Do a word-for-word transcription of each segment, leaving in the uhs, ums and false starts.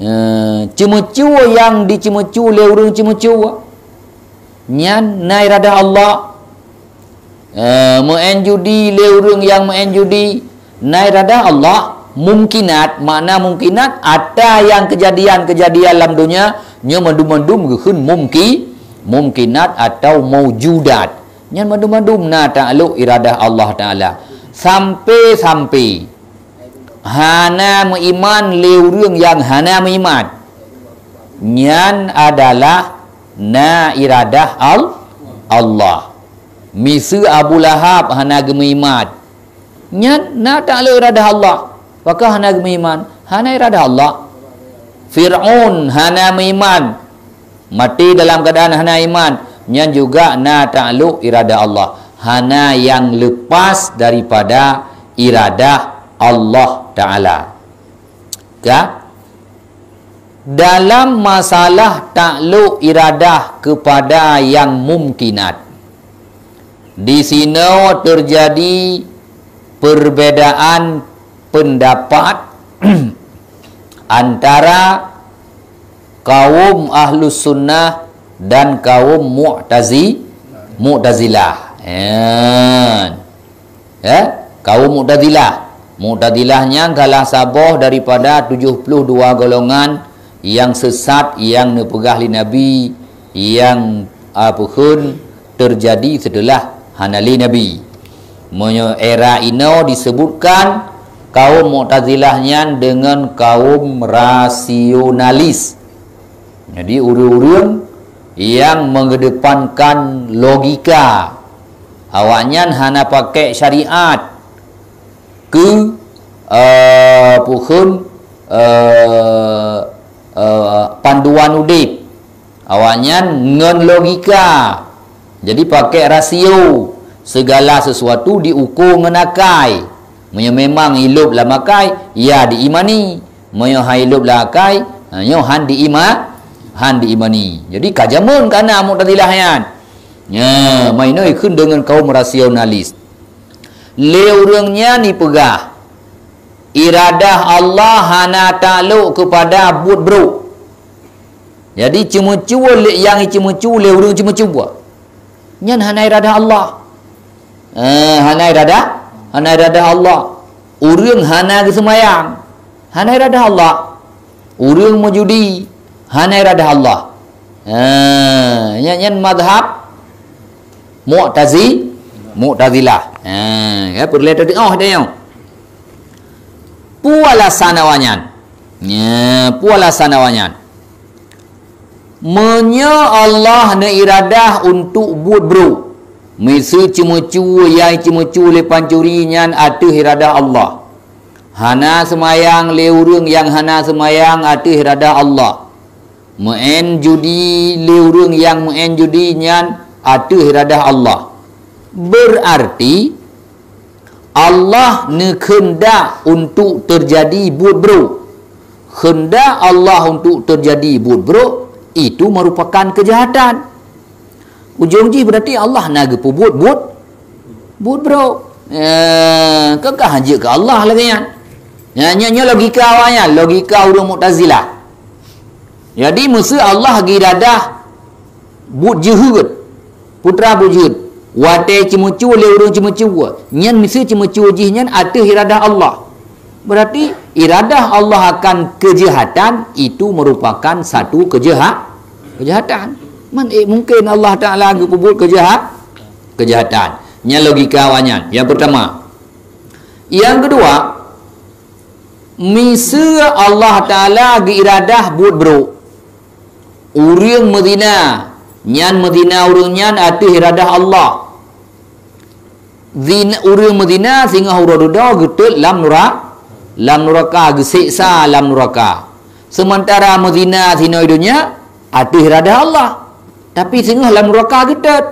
Eh, ceumeucue nyang diceumeucue lé ureuëng ceumeucue, nyan na iradah Allah. Eh, meu'en judi lé ureuëng nyang meu'en judi, na iradah Allah. Mumkinat, makna mumkinat, ata nyang keujadian-keujadian lam donya, nyoe mandum-mandum geukheun mumki-, mumkinat atau maujudat. Nyan mandum-mandum na taklok iradah Allah Ta'ala. Sampai-sampai hana meuiman lé ureuëng nyang hana meuiman. Nyan adalah na iradah Al-, Allah. Miseue Abu Lahab hana geumeuiman. Nyan na taklok iradah Allah. Pakon hana geumeuiman? Hana iradah Allah. Fir'aun hana meuiman. Maté dalam keuadaan hana iman. Nyan juga na taklok iradah Allah. Hana nyang lepas daripada iradah Allah Ta'ala. Ka? Dalam masalah taklok iradah kepada nyang mumkinat, di sinoe teujadi perbedaan peundapat antara kaum Ahlus Sunnah dan kaum Mu'tazi-, Mu'tazilah. Kan? Ya, kaum Mu'tazilah. Mu'tazilah nyan salah saboh daripada tujuh puluh dua golongan nyang sesat nyang neupeugah lé Nabi, nyang, a, peukheun teujadi seuteulah hana lé Nabi. Meunyoe era inoe disebutkan kaum Mu'tazilah nyan deungon kaum rasionalis. Jadi, ureuëng-ureuëng nyang mengedepankan logika, awaknyan hana pakai syariat keu, eh, peukheun, eh, eh, panduan udeb. Awaknyan ngon logika. Jadi, pakai rasio. Segala sesuatu diukur ngon akai. Meunyoe memang ilop lam akai, ya diimani. Meunyoe han ilop lam akai, ha, nyoe han diima-, han diimani. Jadi, ka jameun ka na Mu'tazilah nyan. Nya, ma inoe ikheun deungon kaum rasionalis. Lé ureuëng nyan ipeugah, iradah Allah hana taklok keupada buet brok. Jadi, ceumeucue lé, nyang iceumeucue lé ureuëng ceumeucue, nyan hana iradah Allah. Eh, hana iradah, hana iradah Allah. Ureuëng hana geuseumayang, hana iradah Allah. Ureuëng meujudi, hana iradah Allah. Eh, nyan, nyan mazhab Mu'tazi-, Mu'tazilah. Eh, ya, peureulée teudeungoh deh nyoe. Peue alasan awaknyan? Nya, peue alasan awaknyan? Meunyoe Allah neuiradah untuk buet brok, miseue ceumeucue nyang ceumeucue lé pancuri nyan ateueh iradah Allah. Hana seumayang lé ureuëng nyang hana seumayang ateueh iradah Allah. Meu'en judi lé ureuëng nyang meu'en judi nyan ateueh iradah Allah. Beurarti, Allah neukheundak untuk teujadi buet brok. Kheundak Allah untuk teujadi buet brok, itu meurupakan keujahatan. Ujong jih beurarti Allah na geupeubuet buet, buet brok. Eh, keu ka han jeuet keu Allah lagée nyan. Nya, nya, nya logika awaknyan, logika ureuëng Mu'tazilah. Jadi, meuseu Allah geuiradah buet jeuhet, putra buet jeuhet, watée ceumeucue lé ureuëng ceumeucue, nyan miseue ceumeucue jih nyan ateueh iradah Allah. Berarti, iradah Allah akan keujahatan itu merupakan satu keujaha-, keujahatan. Man, eh, mungken Allah Ta'ala geupeubuet keujaha-, keujahatan. Nyan logika awaknyan. Nyang peurtama. Nyang keudua, miseue Allah Ta'ala geuiradah buet brok. Ureuëng meuzina, nyan meuzina ureuëng nyan ateueh iradah Allah. Zin-, ureuëng meuzina singoh uroe dudoe geutot lam nura-, lam nuraka, geuseksa lam nuraka. Seumantara meuzina sinoe donya ateueh iradah Allah, tapi singoh lam nuraka geutot.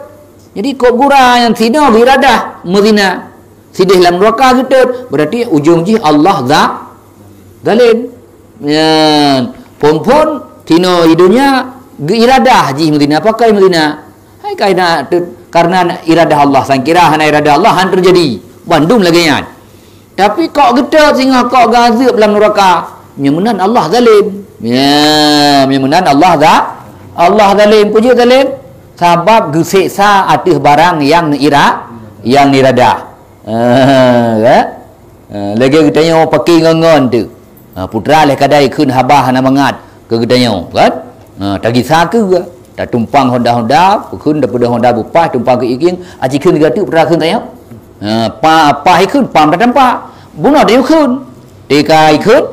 Jadi, kok gura nyang sinoe geuiradah meuzina, sideh lam nuraka geutot, berarti ujong jih Allah za-, zalim. Nyan, phon-phon sinoe di donya geuiradah jih meuzina, pakon meuzina. Hai kaina teu-, karena iradah Allah, sangkira hana iradah Allah, han teujadi. Bandum lagée nyan. Tapi kok geutot singoh kok geuazeueb lam nuraka, nyan meunan Allah zalim. Ya, meunyoe meunan Allah za-, Allah zalim. Peue jeuet zalim? Sabab geuseksa ateueh barang nyang neuira-, nyang neuradah. Eh, kan? Eh, lagèe geutanyoe paké ngon-ngon tu. Ha, putra lheueh kadai kheun haba hana mangat keu geutanyoe, kan? Ha, tagisa keu, tatumpang honda-honda, kheun daripada honda beupaih, tumpang keu iking, aci kheun geutanyoe putra kheun tanyoe. Ha, pa, paih kheun, pam tatampa. Bunoe tanyoe kheun. Tika ikheun,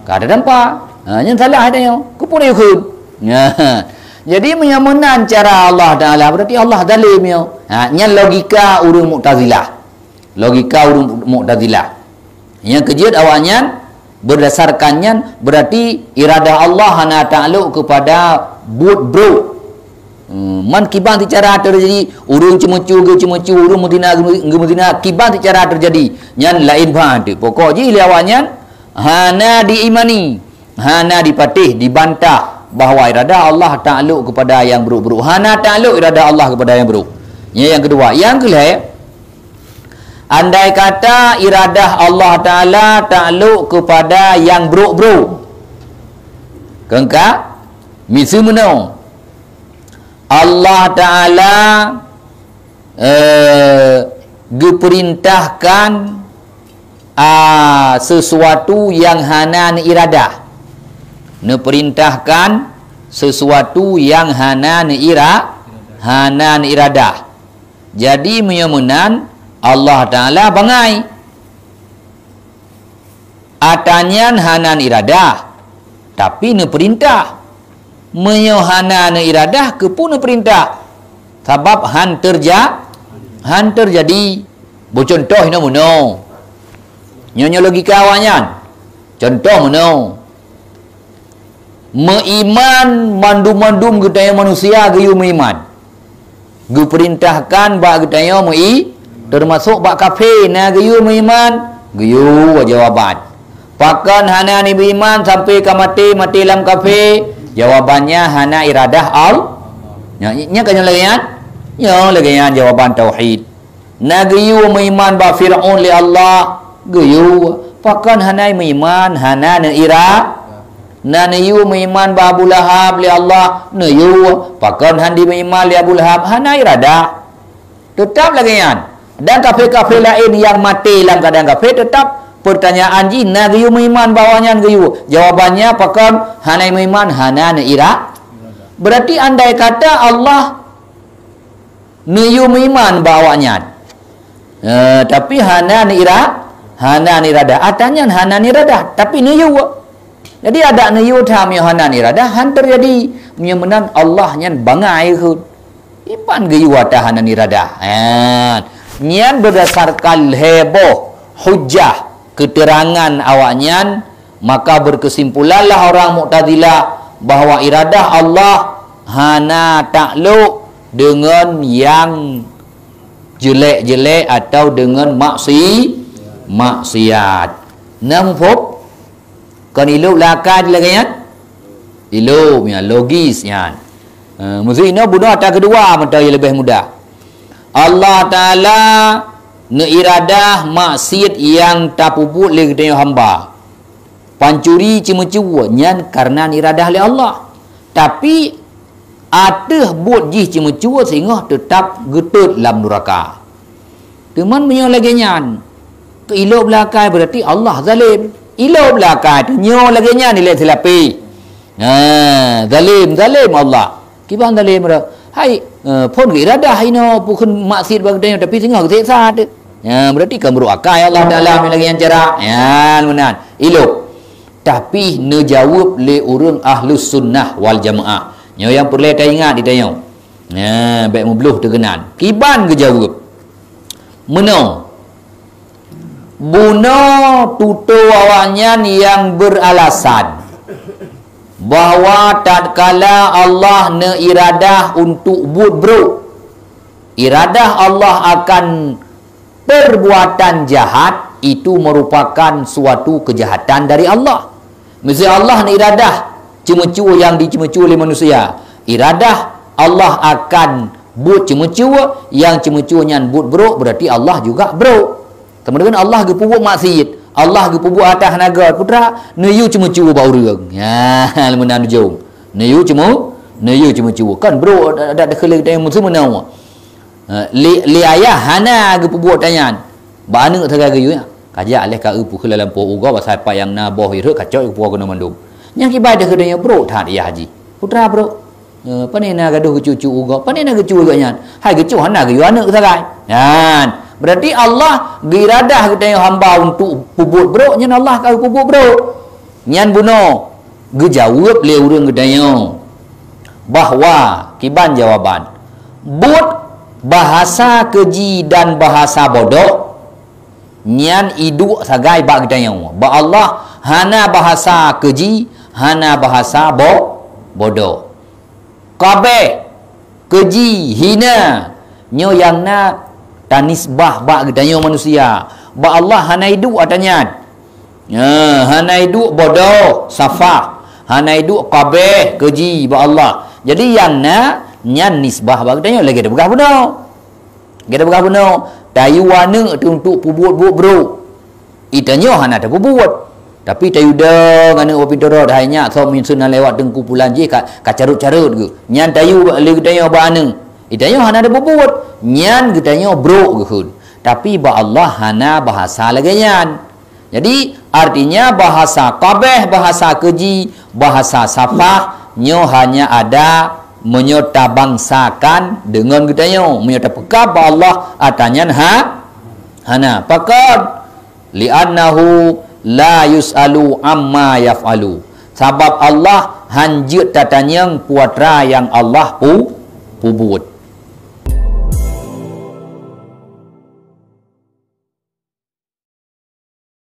ka tatampa. Ha, nyan salah tanyoe. Keupeue tanyoe kheun? Ha. Jadi, meunyoe meunan cara Allah Taala, berarti Allah zalim nyoe. Ha, nyan logika ureueng Mu'tazilah. Logika ureueng Mu'tazilah. Nyang keujeuet awaknyan, berdasarkan nyan, berarti iradah Allah hana taklok kepada buet brok. Hmm, man kiban sicara teujadi, ureueng ceumeucue geuceumeucue, ureueng meuzina geu-, geumeuzina, kiban sicara teujadi. Nyan laén ban teuk. Pokok jih lé awaknyan hana diimani, hana dipatéh, dibantah bahwa iradah Allah taklok kepada nyang brok-brok. Hana taklok iradah Allah kepada nyang brok. Nyan nyang keudua. Nyang keulhèe, andai kata iradah Allah Taala taklok kepada nyang brok-brok. Keungka, miseue meunoe, Allah Taala, eh, geupeurintahkan, a, sesuatu nyang hana neuiradah. Neupeurintahkan sesuatu nyang hana neuira-, hana neuiradah. Jadi, meunyoe meunan, Allah Taala bangai. Ata nyan hana neuiradah, tapi neupeurintah. Meunyoe hana neuiradah, keupeue neupeurintah? Sabab han teurja-, han teujadi. Beucontoh inoe meunoe. Nyoe, nyoe logika awaknyan. Contoh meunoe. Meuiman, mandum-mandum geutanyoe manusia geuyue meuiman. Geupeurintahkan bak geutanyoe meui-, teumasok bak kafé na geuyue meuiman, geuyue jawaban. Pakon hana neumeuiman sampoe ka maté, maté lam kafé? Jawabannya hana iradah Al-, nya, nya ka nyoe lagèe nyan? Nyoe lagèe nyan jawaban tauhid. Na geuyue meuiman bak Fir'aun lé Allah? Geuyue. Pakon hana meuiman, hana neuira-, na neuyue meuiman bak Abu Lahab lé Allah? Neuyue. Pakon han dimeuiman lé Abu Lahab? Hana iradah. Teutap lagèe nyan. Dan kafé-kafé laén nyang maté lam keuadaan kafé, teutap peurtanyaan jih, na geuyue meuiman bak awaknyan? Geuyue. Jawabannya, pakon hana meuiman, hana neuira-. Berarti andai kata Allah neuyue meuiman bak awaknyan. Eh, tapi hana neuira-, hana neuradah. Ata nyan hana neuradah, tapi neuyue. Jadi, adak neuyue that meunyoe hana neuradah, han teujadi. Meunyoe meunan, Allah nyan bangai kheun. Iban geuyue ata hana neuradah. Ha. Nyan berdasarkan lhèe boh hujah keterangan awaknyan, maka berkesimpulanlah orang Mu'tazilah bahwa iradah Allah hana taklok deungon nyang jelek-jelek atau deungon maksi-, maksiat. Na muphom? Kon ilop lé akai lagèe nyan? Ilop nyan, logis nyan. Eh, meusi inoe bunoe ata keudua mantong nyang leubeh mudah. Allah Taala neuiradah maksiet nyang tapeubuet lé geutanyoe hamba. Pancuri, ceumeucue, nyan kareuna neuradah lé Allah. Tapi, ateueh buet jih ceumeucue singoh teutap geutot lam nuraka. Teuma meunyoe lagèe nyan, keu ilop lé akai, berarti Allah zalim. Ilop lé akai, nyoe lagèe nyan ilèe silapeh. Ha, zalim, zalim Allah. Kiban zalim dah. Hai, eh, phon geuiradah inoe peukheun maksiet bak geutanyoe, tapi singoh geuseksa teuh. Ya, berarti kan brok akai Allah Taala meunyoe lagèe nyan cara. Ya, meunan. Ilop. Tapi neujaweueb lé ureueng Ahlus Sunnah wal Jamaah. Nyoe nyang peureulèe taingat di tanyoe. Ya, bèk meubloh teukeunan. Kiban geujaweueb. Meunoe. Bunoe tutoe awaknyan nyang beralasan bahwa tatkala Allah neuiradah untuk buet brok, iradah Allah akan perbuatan jahat itu merupakan suatu kejahatan dari Allah. Miseue Allah neuiradah ceumeucue nyang diceumeucue lé manusia, iradah Allah akan buet ceumeucue, nyang ceumeucue nyan buet brok, berarti Allah juga brok. Teuma deungon Allah geupeubuet maksiet, Allah geupeubuet atas naga putra, neuyue ceumeucue bak ureuëng. Ya, meunan ujong. Neuyue ceumu, neuyue ceumeucue. Kan brok dak dak dikheun lé geutanyoe meusu meunoe. Ha, lé, lé ayah hana geupeubuet tanyan. Bak aneuëk sagai geuyue. Kajak leh ka eu pukheun lam poh ugoe, pasai pat nyang na boh ireuëk kacok geupuwoe keunoe mandum. Nyang kibai dikheun tanyoe brok that yah jih. Putra brok. Eh, pane na gadoh geucucu ugoe, pane na geucue geuh nyan. Hai geucue hana geuyue aneuëk sagai. Nyan, berarti Allah geuiradah geutanyoe hamba untuk peubuet brok, nyan Allah ka peubuet brok. Nyan bunoe geujaweueb lé ureuëng geutanyoe bahwa kiban jawaban buet bahasa keuji dan bahasa bodoh nyan iduek sagai bak geutanyoe. Bak Allah hana bahasa keuji, hana bahasa bo-, bodoh. Kabeh, keuji, hina, nyoe nyang na tanisbah bak geutanyoe manusia. Bak Allah hana iduek ata nyan. Ya, hana iduek bodoh, safah, hana iduek kabeh, keuji bak Allah. Jadi nyang na nyan nisbah bak geutanyoe lagée tapeugah bunoe. Gata peugah bunoe, tayue aneuëk teuh untuk peubuet buet brok. Itanyoe hana tapeubuet. Tapi tayue dong aneuëk bak pintoe rot, hai nyak, soe meunyeuseu na lewat teungku pulan jih ka, ka carot-carot geuh. Nyan tayue lé geutanyoe bak aneuëk. Itanyoe hana tapeubuet. Nyan geutanyoe brok geukheun. Tapi bak Allah hana bahasa lagée nyan. Jadi, artinya bahasa kabeh, bahasa keuji, bahasa safah, nyoe hanya ada meunyoe tabangsakan deungon geutanyoe. Meunyoe tapeugah bak Allah, ata nyan ha, hana. Pakon? Li'annahu la yus'alu amma yaf'alu. Sabab Allah hanjeuet tatanyong peue atra nyang Allah pu-, peubuet.